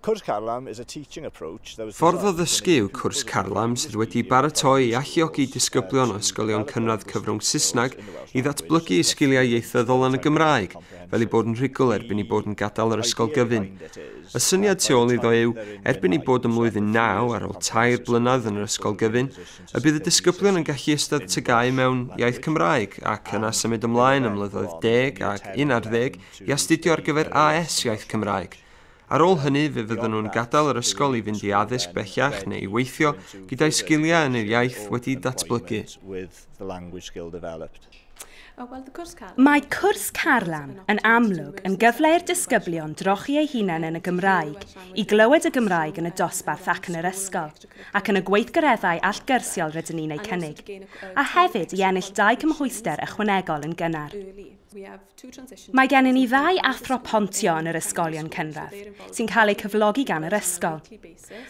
Cwrs Carlam is a teaching approach that was Ffordd o ddysgu yw cwrs Carlam sydd wedi baratoi i alluogi disgyblion o ysgolion cynradd cyfrwng Saesneg i ddatblygu eu sgiliau ieithyddol yn y Gymraeg, fel eu bod yn rhugl erbyn eu bod yn gadael yr ysgol gyfun. Y syniad tu ôl iddo yw, erbyn eu bod ym mlwyddyn 9 ar ôl 3 blynedd yn yr ysgol gyfun, y bydd y disgyblion yn gallu eistedd TGAU mewn iaith Cymraeg ac yna symud ymlaen ym mlynyddoedd 10 ac 11 i astudio ar gyfer AS iaith Cymraeg. Ar ôl hynny, fe fydden nhw'n gadael yr ysgol i fynd i addysg bellach neu i weithio gyda'i sgiliau yn yr iaith wedi datblygu. Mae cwrs Carlam yn amlwg yn gyfle i'r disgyblion drochi eu hunain yn y Gymraeg, i glywed y Gymraeg yn y dosbarth ac yn yr ysgol, ac yn y gweithgareddau allgyrsiol rydyn ni'n eu cynnig, a hefyd i ennill 2 cymhwyster ychwanegol yn gynnar. Mae gennym ni 2 athro pontio yn yr ysgolion cynradd, sy'n cael eu cyflogi gan yr ysgol.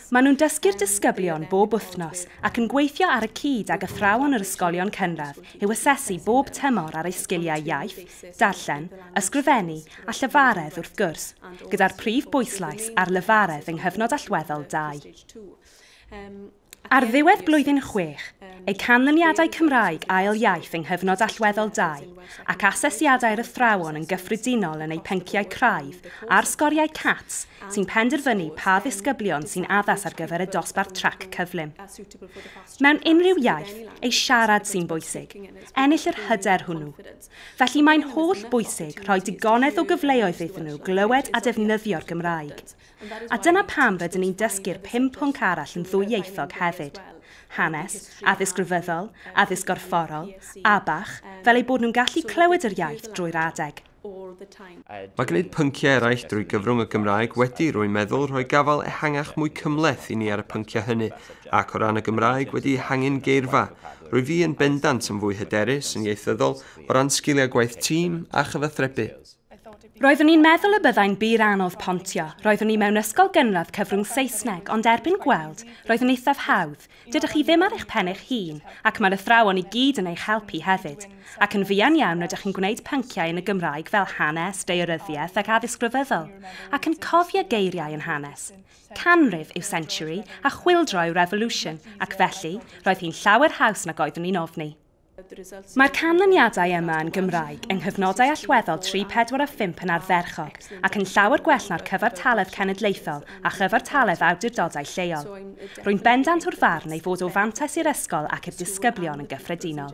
Maen nhw'n dysgu'r disgyblion bob wythnos ac yn gweithio ar y cyd ag athrawon yr ysgolion cynradd i'w asesu bob tymor ar eu sgiliau iaith, darllen, ysgrifennu a llyfaredd wrth gwrs, gyda'r prif bwyslais ar lyfaredd yng nghyfnod allweddol 2. Ar ddiwedd blwyddyn 6, eu canlyniadau Cymraeg ail iaith yng nghyfnod allweddol 2 ac asesiadau'r athrawon yn gyffredinol yn eu pynciau craidd a'r sgoriau CATS sy'n penderfynu pa ddisgyblion sy'n addas ar gyfer y dosbarth trac cyflym. Mewn unrhyw iaith, ei siarad sy'n bwysig, ennill yr hyder hwnnw. Felly mae'n holl bwysig rhoi digonedd o gyfleoedd iddyn nhw glywed a defnyddio'r Gymraeg. A dyna pam rydyn ni'n dysgu'r 5 pwnc arall yn ddwyieithog hefyd. Hanes, addysg grefyddol, addysg gorfforol, ABCH, fel eu bod nhw'n gallu clywed yr iaith drwy'r adeg. Mae gwneud pynciau eraill drwy gyfrwng y Gymraeg wedi, rwy'n meddwl, rhoi gafael ehangach mwy cymhleth i ni ar y pynciau hynny, ac o ran y Gymraeg wedi ehangu'n geirfa. Rwy fi yn bendant yn fwy hyderus yn ieithyddol o ran sgiliau gwaith tîm a chyfathrebu. Roeddwn i'n meddwl y byddai'n bur anodd pontio. Roeddwn i mewn ysgol gynradd cyfrwng Saesneg, ond erbyn gweld, roedd yn eithaf hawdd. Dydych chi ddim ar eich pen eich hun, ac mae'r athrawon i gyd yn eich helpu hefyd. Ac yn fuan iawn rydych chi'n gwneud pynciau yn y Gymraeg fel hanes, daearyddiaeth ac addysg grefyddol, ac yn cofio geiriau yn hanes. Canrif yw century a chwyldro yw revolution, ac felly roedd hi'n llawer haws nag oeddwn i'n ofni. Mae'r canlyniadau yma yn Gymraeg yng nghyfnodau allweddol 3, 4 a 5 yn ardderchog ac yn llawer gwell na'r cyfartaledd cenedlaethol a chyfartaledd awdurdodau lleol. Rwy'n bendant o'r farn ei fod o fantais i'r ysgol ac i'r disgyblion yn gyffredinol.